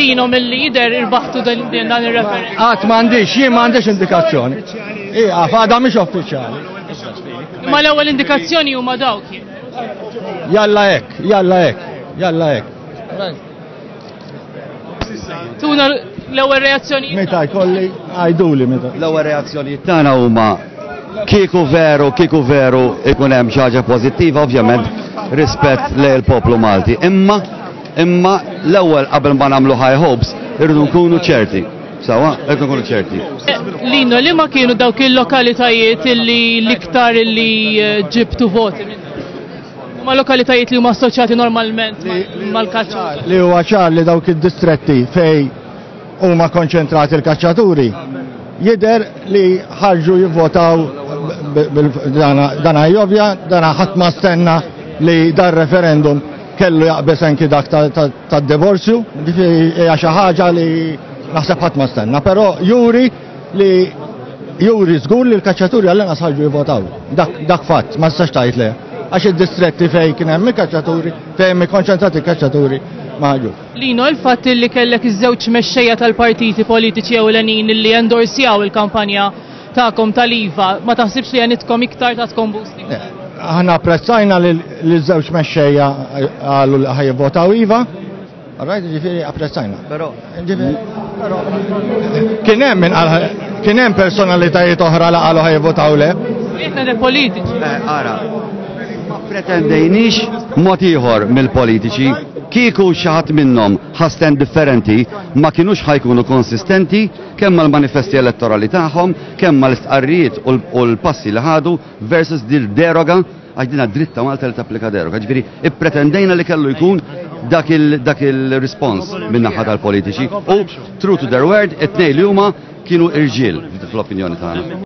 Lino milli jidher irbaħtu dan ir-referendum. Qatt m'għandix, jien m'għandix indikazzjoni. Ija, għadha mhix uffiċjali. Imma l-ewwel indikazzjoni huma dawk. Jalla hekk, jalla hekk, jalla hekk. Tuna l-ewwel reazzjoni. Meta jkolli għajduli meta. L-ewwel reazzjonijiet tagħna huma kieku veru, kieku veru ikun hemm xi ħaġa pożittiva, ovvjament rispett lejn il-poplu Malti. Imma imma l-ewwel qabel ma nagħmlu high hopes irridu nkunu ċerti. Sawa, irridu nkunu ċerti. Lino, li ma kienu dawk il-lokalitajiet illi l-iktar illi ġibtu voti minn? Ma lokalitajiet li huma assoċjati normalment mal-kaċċa. Li huwa ċar li dawk id-distretti fej huma konċentrati l-kaċċaturi jidher li ħarġu jivvotaw dana jovja, dana ħadd ma stenna li dar referendum kellu jaqbeż anki dak tad-divorzju, ġifieri hija xi ħaġa li naħseb ħadd ma stenna, però juri li juri żgur li l-kaċċaturi għall-inqas ħarġu jivvotaw. Dak, dak fatt, ma tistax tgħid le. Għax id-distretti fejn kien hemm il-kaċċaturi, fejn hemm ikkonċentrati il-kaċċaturi ma ħarġux. Lino, il-fatt li kellek iż-żewġ mexxejja tal-partiti politiċi ewlenin li endorsjaw il-kampanja tagħkom tal-IVA, ma taħsibx li għenitkom iktar tatkom boost iktar? Aħna apprezzajna li l-żewġ mexxejja qalu li ħa jivvotaw IVA. Rajt ġifieri apprezzajna. Però ġifieri kien hemm min qal kien hemm personalitajiet oħra li qalu ħa jivvotaw le. Jietna politiċi. Ara, ma pretendejniex mod ieħor mill-politiċi. Kieku xi ħadd minnhom ħa stand differenti ma kinux ħa jkunu konsistenti kemm mal-manifesti elettorali tagħhom, kemm mal-istqarrijiet u l-passi li ħadu versus dil deroga għax dina dritta Malta li tapplika deroga. Ġifieri ippretendejna li kellu jkun dak il-respons min-naħa tal-politiċi u true to their word, it-tnejn li huma kienu irġiel fl-opinjoni tagħna.